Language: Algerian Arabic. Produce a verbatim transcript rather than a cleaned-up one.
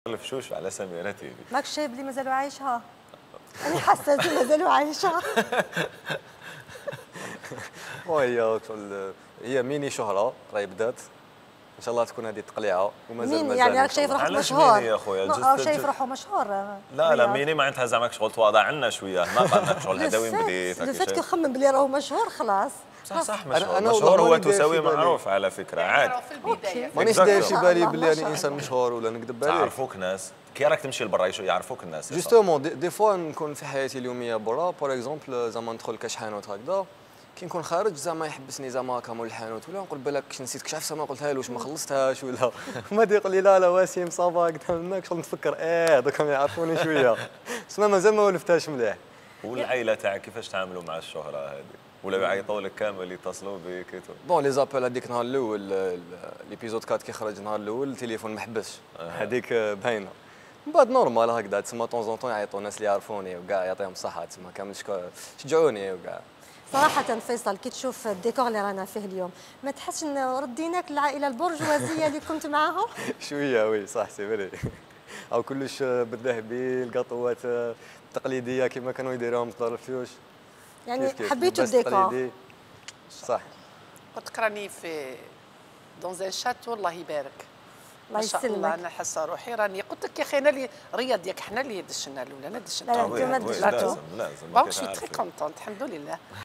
الفشوش على سميرة تيفي. ماكش شايف بلي مازالوا عايشها؟ أنا حسيت مازالوا عايشها. وهي هي ميني شهرة راهي بدات ان شاء الله تكون هذه تقليعه ومازال مين مازال يعني راك شايف روحك علاش مشهور؟ ميني يا خويا؟ اه شايف روحه مشهور. لا لا ميني معناتها زعما شغل تواضع عنا شويه، ما قالنا شغل هذا وين بديت. لو فات كيخمم بلي راهو مشهور خلاص. صح صح مشهور. أنا مشهور هو تساوي معروف على فكره عادي. مانيش داير في بالي بلي انا انسان مشهور ولا نكذب عليك. تعرفوك ناس كي راك تمشي لبرا يعرفوك الناس. جوستومون دي فوا نكون في حياتي اليوميه برا بور اكزومبل زعما ندخل كاش حانوت هكذا كي نكون خارج زعما يحبسني زعما هكا مول الحانوت ولا نقول بالك نسيت كش عفسه ما قلتها له واش ما خلصتهاش ولا ما يقول لي لا لا وسيم صافا هكذا منك شغل نتفكر اه دوكا يعرفوني شويه بس مازال ما ولفتهاش مليح. والعائله تاعك كيفاش تعاملوا مع الشهره هذه؟ ولا يعيطوا لك كامل يتصلوا بك كيتو؟ بون لي زابيل هذيك نهار الاول ليبيزود أربعة كي خرج نهار الاول التليفون ما حبسش هذيك باينه. من بعد نورمال هكذا تسمى طون زون طون يعيطوا الناس اللي يعرفوني وكاع يعطيهم الصحه تسمى كامل شجعوني وكاع. صراحة فيصل كي تشوف الديكور اللي رانا فيه اليوم ما تحسش ان رديناك للعائلة البرجوازية اللي كنت معاهم؟ شوية وي صح سي فري. أو كلش بالذهبي القطوات التقليدية كما كانوا يديروهم في دار الفيوش. يعني حبيتوا الديكور؟ صح. قلت راني في دون ان شاتو الله يبارك. الله يسلمك. ما شاء الله انا حاسه روحي راني قلت لك يا اخي انا اللي رياض ياك حنا اللي دشنا الاولى انا دشنا. لا لا انتم ما دشناش. لازم لازم. بون شي تري كونتونت الحمد لله.